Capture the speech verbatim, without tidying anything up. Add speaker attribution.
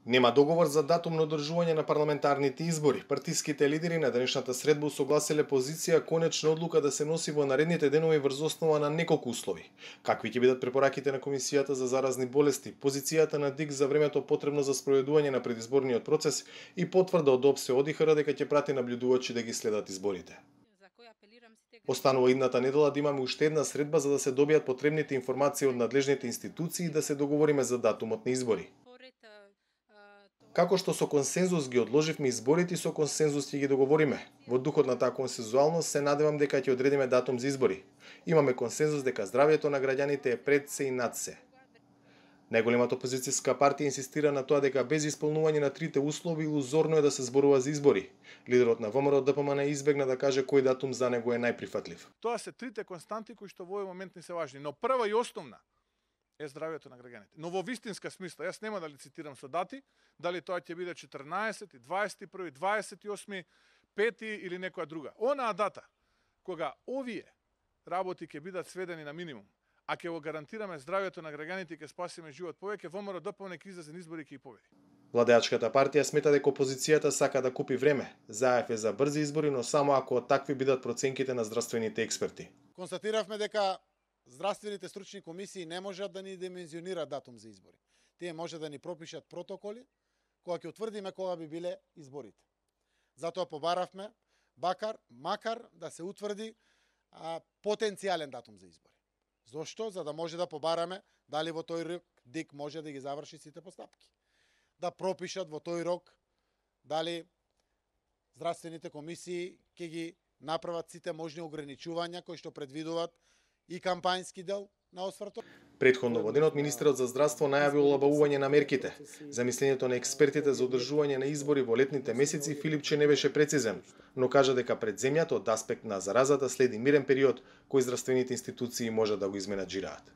Speaker 1: Нема договор за датум на одржување на парламентарните избори. Партиските лидери на денешната средба усогласеле позиција конечна одлука да се носи во наредните денови врз основа на неколку услови. Какви ќе бидат препораките на Комисијата за заразни болести, позицијата на ДИК за времето потребно за спроведување на предизборниот процес и потврда од ОПСЕ ОДИХР дека ќе прати наблюдувачи да ги следат изборите. Останува идната недела да имаме уште една средба за да се добијат потребните информации од надлежните институции и да се договориме за датумот на избори. Како што со консензус ги одложивме изборите, со консензус ќе ги договориме. Во духот на таа консензуалност се надевам дека ќе одредиме датум за избори. Имаме консензус дека здравјето на граѓаните е пред се и над се. Најголемата опозицијска партија инсистира на тоа дека без исполнување на трите услови илузорно е да се зборува за избори. Лидерот на ВМРО Д П М Н избегна да каже кој датум за него е најприфатлив.
Speaker 2: Тоа се трите константи кои што во овој момент не се важни, но прва и основна е здравјето на граѓаните. Но во вистинска смисла, јас нема да лицитирам со дати, дали тоа ќе биде четрнаесети, дваесет и први, дваесет и осми, пети или некоја друга. Онаа дата кога овие работи ќе бидат сведени на минимум, а ќе го гарантираме здравјето на граѓаните и ќе спасиме живот повеќе, ВМРО Д П М Н ќе излезе на избори и ќе ги победи.
Speaker 1: Владеачката партија смета дека опозицијата сака да купи време. Заев е за брзи избори, но само ако такви бидат проценките на здравствените експерти.
Speaker 3: Констатиравме дека здравствените стручни комисии не можат да ни димензионираат датум за избори. Тие може да ни пропишат протоколи кога ќе утврдиме кога би биле изборите. Затоа побаравме бакар, макар да се утврди а, потенцијален датум за избори. Зошто? За да може да побараме дали во тој рок ДИК може да ги заврши сите постапки. Да пропишат во тој рок дали здравствените комисии ќе ги направат сите можни ограничувања кои што предвидуваат и кампањски дел на освртот.
Speaker 1: Претходно во денот министерот за здравство најави олабавување на мерките. Замислењето на експертите за одржување на избори во летните месеци Филипче не беше прецизен, но кажа дека пред земјата од аспект на заразата следи мирен период кој здравствените институции можат да го изменаџираат.